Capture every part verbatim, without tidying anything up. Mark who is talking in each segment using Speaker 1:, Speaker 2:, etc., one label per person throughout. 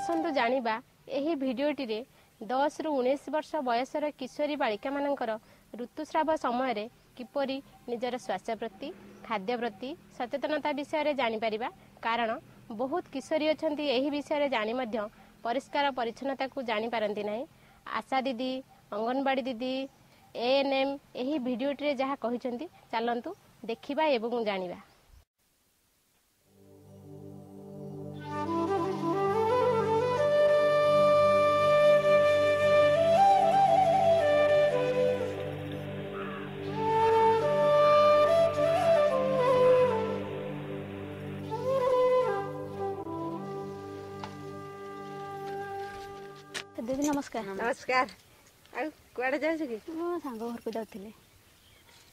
Speaker 1: ଆସନ୍ତୁ ଜାଣିବା ଏହି ଭିଡ଼ିଓଟିରେ ଦଶରୁ ଉଣେଇଶ ବର୍ଷ ବୟସର କିଶୋରୀ ବାଳିକାମାନଙ୍କର ଋତୁସ୍ରାବ ସମୟରେ କିପରି ନିଜର ସ୍ୱାସ୍ଥ୍ୟ ପ୍ରତି, ଖାଦ୍ୟ ପ୍ରତି ସଚେତନତା ବିଷୟରେ ଜାଣିପାରିବା। କାରଣ ବହୁତ କିଶୋରୀ ଅଛନ୍ତି ଏହି ବିଷୟରେ ଜାଣି ମଧ୍ୟ ପରିଷ୍କାର ପରିଚ୍ଛନ୍ନତାକୁ ଜାଣିପାରନ୍ତି ନାହିଁ। ଆଶା ଦିଦି, ଅଙ୍ଗନବାଡ଼ି ଦିଦି, ଏ ଏନ୍ ଏମ୍ ଏହି ଭିଡ଼ିଓଟିରେ ଯାହା କହିଛନ୍ତି ଚାଲନ୍ତୁ ଦେଖିବା ଏବଂ ଜାଣିବା। ଦିଦି ନମସ୍କାର।
Speaker 2: ନମସ୍କାର। ଆଉ କୁଆଡେ ଯାଉଛୁ କି?
Speaker 3: ମୁଁ ସାଙ୍ଗ ଘରକୁ ଯାଉଥିଲି।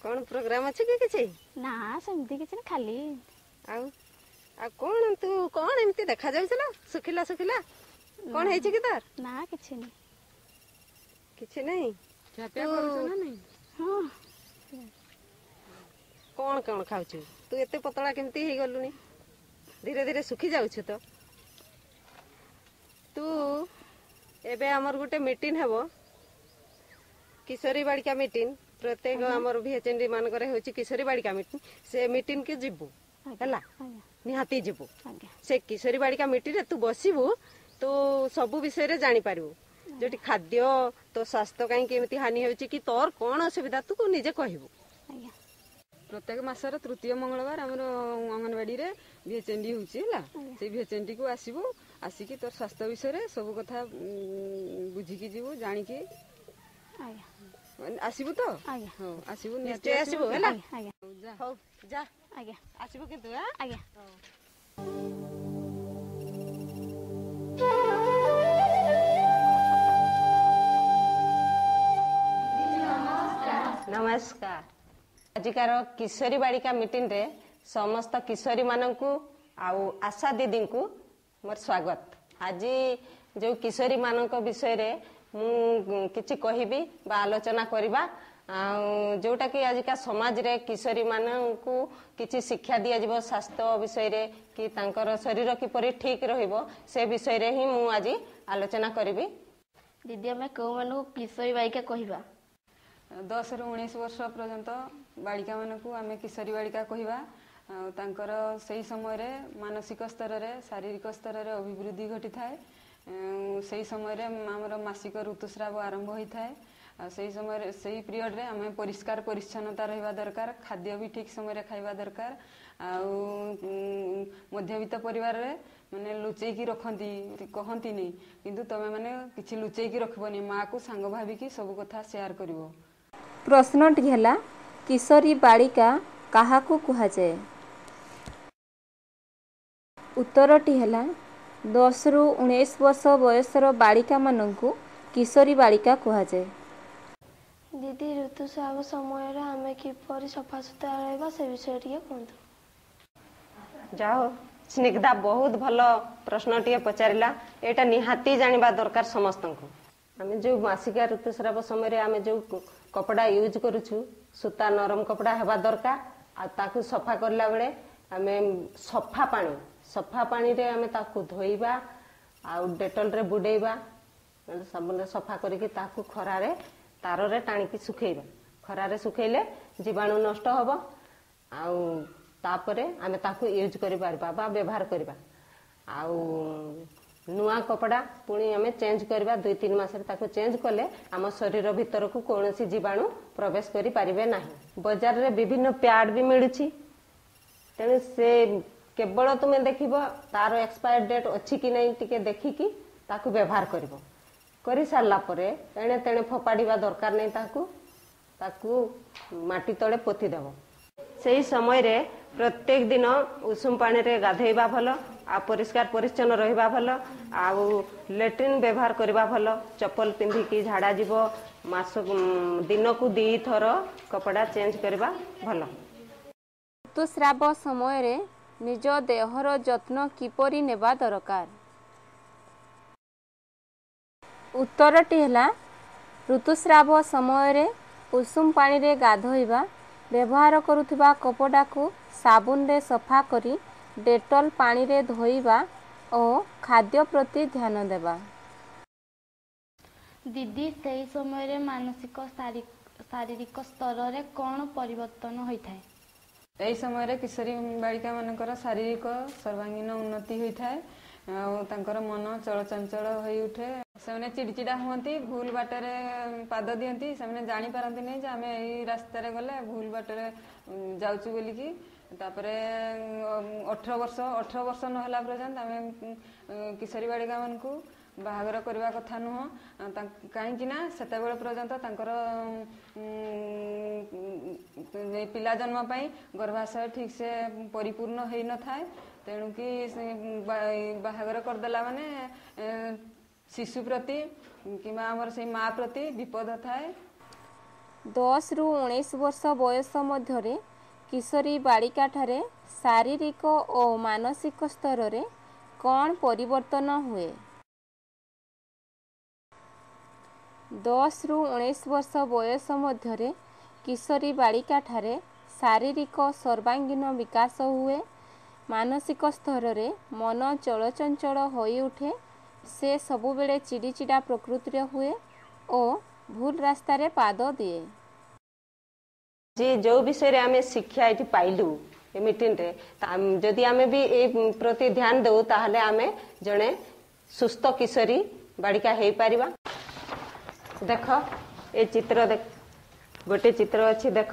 Speaker 2: କଣ ପ୍ରୋଗ୍ରାମ ଅଛି କି କିଛି?
Speaker 3: ନା, ସେମିତି କିଛି ନା, ଖାଲି।
Speaker 2: ଆଉ ଆଉ କଣ ତୁ କଣ ଏମିତି ଦେଖା ଯାଉଛୁ ନା, ଶୁଖିଲା ଶୁଖିଲା, କଣ ହେଇଛି କି ତୋର?
Speaker 3: ନା, କିଛି ନାହିଁ।
Speaker 2: କିଛି ନାହିଁ?
Speaker 3: ହଁ।
Speaker 2: କଣ କଣ ଖାଉଛୁ ତୁ? ଏତେ ପତଳା କେମିତି ହେଇଗଲୁଣି? ଧୀରେ ଧୀରେ ଶୁଖି ଯାଉଛୁ ତ ତୁ। ଏବେ ଆମର ଗୋଟେ ମିଟିଂ ହେବ, କିଶୋରୀ ବାଳିକା ମିଟିଂ। ପ୍ରତ୍ୟେକ ଆମର ଭିଏଚଏନଡି ମାନଙ୍କରେ ହେଉଛି କିଶୋରୀ ବାଳିକା ମିଟିଂ। ସେ ମିଟିଂ କି ଯିବୁ ହେଲା, ନିହାତି ଯିବୁ। ସେ କିଶୋରୀ ବାଳିକା ମିଟିଂରେ ତୁ ବସିବୁ, ତୁ ସବୁ ବିଷୟରେ ଜାଣିପାରିବୁ, ଯୋଉଠି ଖାଦ୍ୟ, ତୋ ସ୍ୱାସ୍ଥ୍ୟ କାହିଁକି ଏମିତି ହାନି ହେଉଛି କି ତୋର କଣ ଅସୁବିଧା ତୁ ନିଜେ କହିବୁ।
Speaker 4: ପ୍ରତ୍ୟେକ ମାସର ତୃତୀୟ ମଙ୍ଗଳବାର ଆମର ଅଙ୍ଗନବାଡ଼ିରେ ଭିଏଚଏନଡି ହେଉଛି ହେଲା। ସେଇ ଭିଏଚଏନଡି କୁ ଆସିବୁ, ଆସିକି ତୋର ସ୍ୱାସ୍ଥ୍ୟ ବିଷୟରେ ସବୁ କଥା ବୁଝିକି ଯିବୁ, ଜାଣିକି ଆସିବୁ ତ? ହଉ, ଆସିବୁ,
Speaker 2: ନିଶ୍ଚୟ ଆସିବୁ ହେଲା। ହଉ ଯା।
Speaker 3: ଆଜ୍ଞା।
Speaker 2: ଆସିବୁ କିନ୍ତୁ।
Speaker 3: ଆଜ୍ଞା।
Speaker 2: ନମସ୍କାର। ଆଜିକାର କିଶୋରୀ ବାଳିକା ମିଟିଂରେ ସମସ୍ତ କିଶୋରୀମାନଙ୍କୁ ଆଉ ଆଶା ଦିଦିଙ୍କୁ ମୋର ସ୍ୱାଗତ। ଆଜି ଯେଉଁ କିଶୋରୀମାନଙ୍କ ବିଷୟରେ ମୁଁ କିଛି କହିବି ବା ଆଲୋଚନା କରିବା, ଆଉ ଯୋଉଟାକି ଆଜିକା ସମାଜରେ କିଶୋରୀମାନଙ୍କୁ କିଛି ଶିକ୍ଷା ଦିଆଯିବ ସ୍ୱାସ୍ଥ୍ୟ ବିଷୟରେ କି ତାଙ୍କର ଶରୀର କିପରି ଠିକ ରହିବ, ସେ ବିଷୟରେ ହିଁ ମୁଁ ଆଜି ଆଲୋଚନା କରିବି।
Speaker 5: ଦିଦି, ଆମେ କେଉଁମାନଙ୍କୁ କିଶୋରୀ ବାଳିକା କହିବା?
Speaker 4: ଦଶରୁ ଉଣେଇଶ ବର୍ଷ ପର୍ଯ୍ୟନ୍ତ ବାଳିକାମାନଙ୍କୁ ଆମେ କିଶୋରୀ ବାଳିକା କହିବା। ଆଉ ତାଙ୍କର ସେଇ ସମୟରେ ମାନସିକ ସ୍ତରରେ, ଶାରୀରିକ ସ୍ତରରେ ଅଭିବୃଦ୍ଧି ଘଟିଥାଏ। ସେଇ ସମୟରେ ଆମର ମାସିକ ଋତୁସ୍ରାବ ଆରମ୍ଭ ହୋଇଥାଏ। ଆଉ ସେଇ ସମୟରେ, ସେଇ ପିରିୟଡ଼ରେ ଆମେ ପରିଷ୍କାର ପରିଚ୍ଛନ୍ନତା ରହିବା ଦରକାର, ଖାଦ୍ୟ ବି ଠିକ୍ ସମୟରେ ଖାଇବା ଦରକାର। ଆଉ ମଧ୍ୟବିତ୍ତ ପରିବାରରେ ମାନେ ଲୁଚେଇକି ରଖନ୍ତି, କହନ୍ତିନି, କିନ୍ତୁ ତମେ ମାନେ କିଛି ଲୁଚେଇକି ରଖିବନି, ମାଆକୁ ସାଙ୍ଗ ଭାବିକି ସବୁ କଥା ସେୟାର କରିବ।
Speaker 6: ପ୍ରଶ୍ନଟି ହେଲା, କିଶୋରୀ ବାଳିକା କାହାକୁ କୁହାଯାଏ? ଉତ୍ତରଟି ହେଲା, ଦଶରୁ ଉଣେଇଶ ବର୍ଷ ବୟସର ବାଳିକାମାନଙ୍କୁ କିଶୋରୀ ବାଳିକା କୁହାଯାଏ।
Speaker 7: ଦିଦି, ଋତୁସ୍ରାବ ସମୟରେ ଆମେ କିପରି ସଫାସୁତୁରା ରହିବା ସେ ବିଷୟରେ ଟିକେ କୁହନ୍ତୁ।
Speaker 2: ଯାଅ ସ୍ନିଗ୍ଧା, ବହୁତ ଭଲ ପ୍ରଶ୍ନଟିଏ ପଚାରିଲା। ଏଇଟା ନିହାତି ଜାଣିବା ଦରକାର ସମସ୍ତଙ୍କୁ। ଆମେ ଯୋଉ ମାସିକା ଋତୁସ୍ରାବ ସମୟରେ ଆମେ ଯୋଉ କପଡ଼ା ୟୁଜ୍ କରୁଛୁ, ସୂତା ନରମ କପଡ଼ା ହେବା ଦରକାର। ଆଉ ତାକୁ ସଫା କରିଲା ବେଳେ ଆମେ ସଫା ପାଣି, ସଫା ପାଣିରେ ଆମେ ତାକୁ ଧୋଇବା ଆଉ ଡେଟଲରେ ବୁଡେଇବା, ସାବୁନରେ ସଫା କରିକି ତାକୁ ଖରାରେ ତାରରେ ଟାଣିକି ଶୁଖେଇବା। ଖରାରେ ଶୁଖେଇଲେ ଜୀବାଣୁ ନଷ୍ଟ ହବ, ଆଉ ତାପରେ ଆମେ ତାକୁ ୟୁଜ୍ କରିପାରିବା ବା ବ୍ୟବହାର କରିବା। ଆଉ ନୂଆ କପଡ଼ା ପୁଣି ଆମେ ଚେଞ୍ଜ କରିବା, ଦୁଇ ତିନି ମାସରେ ତାକୁ ଚେଞ୍ଜ କଲେ ଆମ ଶରୀର ଭିତରକୁ କୌଣସି ଜୀବାଣୁ ପ୍ରବେଶ କରିପାରିବେ ନାହିଁ। ବଜାରରେ ବିଭିନ୍ନ ପ୍ୟାଡ୍ ବି ମିଳୁଛି, ତେଣୁ ସେ କେବଳ ତୁମେ ଦେଖିବ ତାର ଏକ୍ସପାୟାର ଡେଟ୍ ଅଛି କି ନାହିଁ, ଟିକେ ଦେଖିକି ତାକୁ ବ୍ୟବହାର କରିବ। କରିସାରିଲା ପରେ ଏଣେ ତେଣେ ଫୋପାଡ଼ିବା ଦରକାର ନାହିଁ, ତାକୁ ତାକୁ ମାଟି ତଳେ ପୋତିଦେବ। ସେଇ ସମୟରେ ପ୍ରତ୍ୟେକ ଦିନ ଉଷୁମ ପାଣିରେ ଗାଧେଇବା ଭଲ, ଆଉ ପରିଷ୍କାର ପରିଚ୍ଛନ୍ନ ରହିବା ଭଲ, ଆଉ ଲାଟ୍ରିନ୍ ବ୍ୟବହାର କରିବା ଭଲ। ଚପଲ ପିନ୍ଧିକି ଝାଡ଼ା ଯିବ। ମାସ ଦିନକୁ ଦୁଇଥର କପଡ଼ା ଚେଞ୍ଜ କରିବା ଭଲ।
Speaker 6: ଋତୁସ୍ରାବ ସମୟରେ ନିଜ ଦେହର ଯତ୍ନ କିପରି ନେବା ଦରକାର? ଉତ୍ତରଟି ହେଲା, ଋତୁସ୍ରାବ ସମୟରେ ଉଷୁମ ପାଣିରେ ଗାଧୋଇବା, ବ୍ୟବହାର କରୁଥିବା କପଡ଼ାକୁ ସାବୁନରେ ସଫା କରି ଡେଟଲ ପାଣିରେ ଧୋଇବା ଓ ଖାଦ୍ୟ ପ୍ରତି ଧ୍ୟାନ ଦେବା।
Speaker 8: ଦିଦି, ସେହି ସମୟରେ ମାନସିକ ଶାରୀରିକ ସ୍ତରରେ କ'ଣ ପରିବର୍ତ୍ତନ ହୋଇଥାଏ?
Speaker 4: ଏହି ସମୟରେ କିଶୋରୀ ବାଳିକା ମାନଙ୍କର ଶାରୀରିକ ସର୍ବାଙ୍ଗୀନ ଉନ୍ନତି ହୋଇଥାଏ ଆଉ ତାଙ୍କର ମନ ଚଳଚଞ୍ଚଳ ହୋଇ ଉଠେ। ସେମାନେ ଚିଡ଼ିଚିଡ଼ା ହୁଅନ୍ତି, ଭୁଲ ବାଟରେ ପାଦ ଦିଅନ୍ତି। ସେମାନେ ଜାଣିପାରନ୍ତିନି ଯେ ଆମେ ଏଇ ରାସ୍ତାରେ ଗଲେ ଭୁଲ ବାଟରେ ଯାଉଛୁ ବୋଲିକି। ତାପରେ ଅଠର ବର୍ଷ ଅଠର ବର୍ଷ ନହେଲା ପର୍ଯ୍ୟନ୍ତ ଆମେ କିଶୋରୀ ବାଳିକା ମାନଙ୍କୁ ବାହାଘର କରିବା କଥା ନୁହଁ, କାହିଁକି ନା ସେତେବେଳେ ପର୍ଯ୍ୟନ୍ତ ତାଙ୍କର ପିଲା ଜନ୍ମ ପାଇଁ ଗର୍ଭାଶୟ ଠିକ୍ ସେ ପରିପୂର୍ଣ୍ଣ ହେଇନଥାଏ। ତେଣୁକି ବାହାଘର କରିଦେଲା ମାନେ ଶିଶୁ ପ୍ରତି କିମ୍ବା ଆମର ସେଇ ମା ପ୍ରତି ବିପଦ ଥାଏ।
Speaker 6: ଦଶରୁ ଉଣେଇଶ ବର୍ଷ ବୟସ ମଧ୍ୟରେ କିଶୋରୀ ବାଳିକାଠାରେ ଶାରୀରିକ ଓ ମାନସିକ ସ୍ତରରେ କ'ଣ ପରିବର୍ତ୍ତନ ହୁଏ? ଦଶରୁ ଉଣେଇଶ ବର୍ଷ ବୟସ ମଧ୍ୟରେ କିଶୋରୀ ବାଳିକାଠାରେ ଶାରୀରିକ ସର୍ବାଙ୍ଗୀନ ବିକାଶ ହୁଏ। ମାନସିକ ସ୍ତରରେ ମନ ଚଳଚଞ୍ଚଳ ହୋଇଉଠେ। ସେ ସବୁବେଳେ ଚିଡ଼ିଚିଡ଼ା ପ୍ରକୃତିର ହୁଏ ଓ ଭୁଲ ରାସ୍ତାରେ ପାଦ ଦିଏ।
Speaker 2: ଯେ ଯେଉଁ ବିଷୟରେ ଆମେ ଶିକ୍ଷା ଏଠି ପାଇଲୁ ଏ ମିଟିଂରେ, ଯଦି ଆମେ ବି ଏ ପ୍ରତି ଧ୍ୟାନ ଦେଉ ତାହେଲେ ଆମେ ଜଣେ ସୁସ୍ଥ କିଶୋରୀ ବାଳିକା ହେଇପାରିବା। ଦେଖ ଏ ଚିତ୍ର ଦେଖ, ଗୋଟେ ଚିତ୍ର ଅଛି ଦେଖ।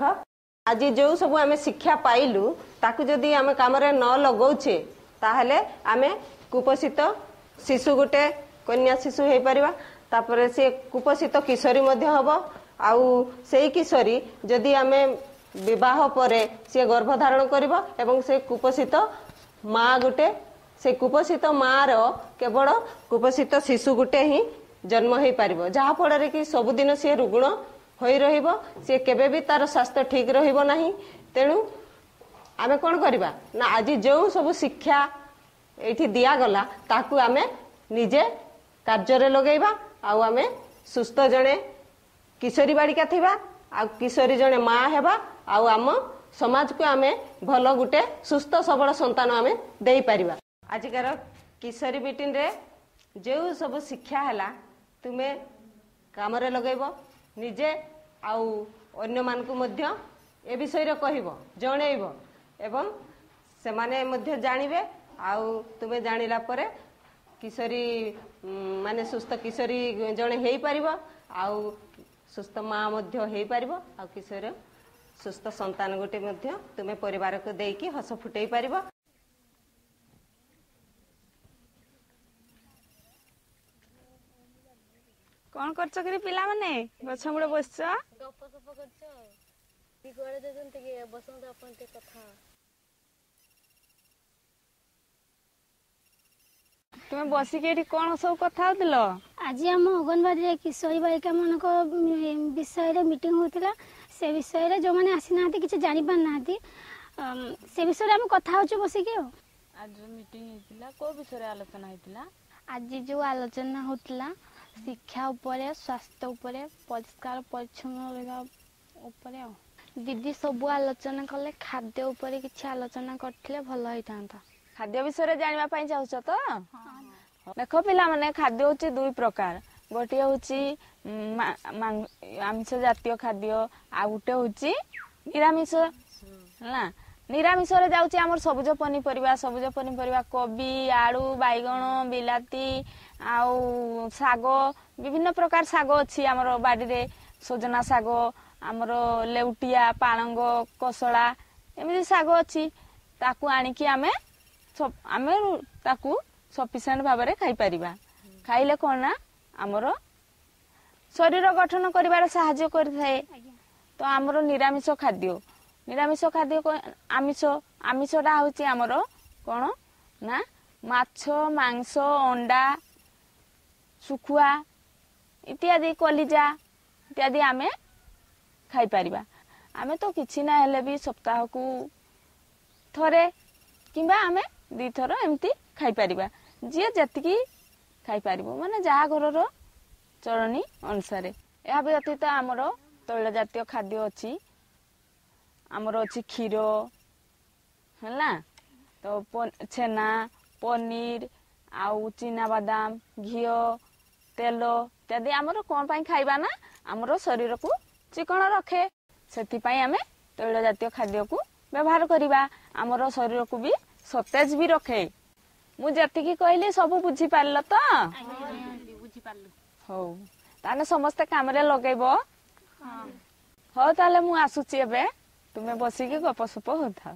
Speaker 2: ଆଜି ଯେଉଁ ସବୁ ଆମେ ଶିକ୍ଷା ପାଇଲୁ ତାକୁ ଯଦି ଆମେ କାମରେ ନ ଲଗାଉଛେ ତାହେଲେ ଆମେ କୁପୋଷିତ ଶିଶୁ ଗୋଟେ କନ୍ୟା ଶିଶୁ ହେଇପାରିବା। ତାପରେ ସେ କୁପୋଷିତ କିଶୋରୀ ମଧ୍ୟ ହବ। ଆଉ ସେଇ କିଶୋରୀ ଯଦି ଆମେ ବିବାହ ପରେ ସିଏ ଗର୍ଭଧାରଣ କରିବ ଏବଂ ସେ କୁପୋଷିତ ମା ଗୋଟେ, ସେ କୁପୋଷିତ ମାର କେବଳ କୁପୋଷିତ ଶିଶୁ ଗୋଟେ ହିଁ ଜନ୍ମ ହେଇପାରିବ, ଯାହାଫଳରେ କି ସବୁଦିନ ସିଏ ରୁଗ୍ଣ ହୋଇ ରହିବ। ସିଏ କେବେ ବି ତାର ସ୍ୱାସ୍ଥ୍ୟ ଠିକ ରହିବ ନାହିଁ। ତେଣୁ ଆମେ କ'ଣ କରିବା ନା ଆଜି ଯେଉଁ ସବୁ ଶିକ୍ଷା ଏଇଠି ଦିଆଗଲା ତାକୁ ଆମେ ନିଜେ କାର୍ଯ୍ୟରେ ଲଗେଇବା ଆଉ ଆମେ ସୁସ୍ଥ ଜଣେ କିଶୋରୀ ବାଳିକା ଥିବା ଆଉ କିଶୋରୀ ଜଣେ ମା ହେବା ଆଉ ଆମ ସମାଜକୁ ଆମେ ଭଲ ଗୋଟେ ସୁସ୍ଥ ସବଳ ସନ୍ତାନ ଆମେ ଦେଇପାରିବା। ଆଜିକାର କିଶୋରୀ ମିଟିଂରେ ଯେଉଁ ସବୁ ଶିକ୍ଷା ହେଲା ତୁମେ କାମରେ ଲଗେଇବ ନିଜେ ଆଉ ଅନ୍ୟମାନଙ୍କୁ ମଧ୍ୟ ଏ ବିଷୟରେ କହିବ, ଜଣେଇବ ଏବଂ ସେମାନେ ମଧ୍ୟ ଜାଣିବେ। ଆଉ ତୁମେ ଜାଣିଲା ପରେ କିଶୋରୀ ମାନେ ସୁସ୍ଥ କିଶୋରୀ ଜଣେ ହେଇପାରିବ ଆଉ ସୁସ୍ଥ ମା ମଧ୍ୟ ହେଇପାରିବ ଆଉ କିଶୋର ସୁସ୍ଥ ସନ୍ତାନ ଗୋଟେ ମଧ୍ୟ ତୁମେ ପରିବାରକୁ ଦେଇକି ହସ ଫୁଟେଇ ପାରିବ।
Speaker 9: କଣ କରୁଛ କିରେ ପିଲାମାନେ? ଗଛ ମୂଳେ ବସିଛ,
Speaker 8: ଗପ ସପ କରୁଛ? କୁଆଡେ ଯାଉଛନ୍ତି କି? ବସନ୍ତୁ ଆପଣ ଟିକେ କଥା।
Speaker 9: ତୁମେ ବସିକି ଏଠି କଣ ସବୁ କଥା ହଉଥିଲ?
Speaker 10: ଆଜି ଆମ ଅଙ୍ଗନବାଡ଼ିରେ କିଶୋରୀ ବାଳିକା ମାନଙ୍କ ବିଷୟରେ ମିଟିଂ ହଉଥିଲା। ସେ ବିଷୟରେ ଯୋଉମାନେ ଆସିନାହାନ୍ତି କିଛି ଜାଣିପାରୁନାହାନ୍ତି ସେ ବିଷୟରେ ଆମେ କଥା ହଉଛୁ ବସିକି। ଆଉ
Speaker 11: ଆଜି ମିଟିଂ ହେଇଥିଲା, କୋଉ ବିଷୟରେ ଆଲୋଚନା ହେଇଥିଲା?
Speaker 8: ଆଜି ଯୋଉ ଆଲୋଚନା ହଉଥିଲା ଶିକ୍ଷା ଉପରେ, ସ୍ୱାସ୍ଥ୍ୟ ଉପରେ, ପରିଷ୍କାର ପରିଚ୍ଛନ୍ନ ରହିବା ଉପରେ। ଆଉ ଦିଦି ସବୁ ଆଲୋଚନା କଲେ, ଖାଦ୍ୟ ଉପରେ କିଛି ଆଲୋଚନା କରିଥିଲେ ଭଲ ହେଇଥାନ୍ତା।
Speaker 9: ଖାଦ୍ୟ ବିଷୟରେ ଜାଣିବା ପାଇଁ ଚାହୁଁଛ ତ? ଦେଖ ପିଲାମାନେ, ଖାଦ୍ୟ ହଉଛି ଦୁଇ ପ୍ରକାର। ଗୋଟିଏ ହଉଛି ଆମିଷ ଜାତୀୟ ଖାଦ୍ୟ ଆଉ ଗୋଟେ ହଉଛି ନିରାମିଷ। ହେଲା, ନିରାମିଷରେ ଯାଉଛି ଆମର ସବୁଜ ପନିପରିବା। ସବୁଜ ପନିପରିବା କୋବି, ଆଳୁ, ବାଇଗଣ, ବିଲାତି ଆଉ ଶାଗ, ବିଭିନ୍ନ ପ୍ରକାର ଶାଗ ଅଛି ଆମର ବାଡ଼ିରେ। ସଜନା ଶାଗ, ଆମର ଲେଉଟିଆ, ପାଳଙ୍ଗ, କୋଶଳା, ଏମିତି ଶାଗ ଅଛି। ତାକୁ ଆଣିକି ଆମେ ଆମେ ତାକୁ ସଫିସିଏଣ୍ଟ ଭାବରେ ଖାଇପାରିବା। ଖାଇଲେ କଣ ନା ଆମର ଶରୀର ଗଠନ କରିବାରେ ସାହାଯ୍ୟ କରିଥାଏ। ତ ଆମର ନିରାମିଷ ଖାଦ୍ୟ, ନିରାମିଷ ଖାଦ୍ୟ ଆମିଷ, ଆମିଷଟା ହଉଛି ଆମର କଣ ନା ମାଛ, ମାଂସ, ଅଣ୍ଡା, ଶୁଖୁଆ ଇତ୍ୟାଦି, କଲିଜା ଇତ୍ୟାଦି ଆମେ ଖାଇପାରିବା। ଆମେ ତ କିଛି ନା ହେଲେ ବି ସପ୍ତାହକୁ ଥରେ କିମ୍ବା ଆମେ ଦୁଇଥର ଏମିତି ଖାଇପାରିବା, ଯିଏ ଯେତିକି ଖାଇପାରିବ, ମାନେ ଯାହା ଘରର ଚଳଣି ଅନୁସାରେ। ଏହା ବ୍ୟତୀତ ଆମର ତୈଳ ଜାତୀୟ ଖାଦ୍ୟ ଅଛି, ଆମର ଅଛି କ୍ଷୀର ହେଲା ତ ଛେନା, ପନିର ଆଉ ଚିନାବାଦାମ, ଘିଅ, ତେଲ ଇତ୍ୟାଦି ଆମର କ'ଣ ପାଇଁ ଖାଇବା ନା ଆମର ଶରୀରକୁ ଚିକଣ ରଖେ। ସେଥିପାଇଁ ଆମେ ତୈଳ ଜାତୀୟ ଖାଦ୍ୟକୁ ବ୍ୟବହାର କରିବା, ଆମର ଶରୀରକୁ ବି ସତେଜ ବି ରଖେ। ମୁଁ ଯେତିକି କହିଲି ସବୁ ବୁଝିପାରିଲ ତ?
Speaker 11: ବୁଝିପାରିଲୁ।
Speaker 9: ହଉ, ତାହେଲେ ସମସ୍ତେ କାମରେ ଲଗେଇବ। ହଉ, ତାହେଲେ ମୁଁ ଆସୁଛି ଏବେ, ତୁମେ ବସିକି ଗପସପ ହଉଥାଅ।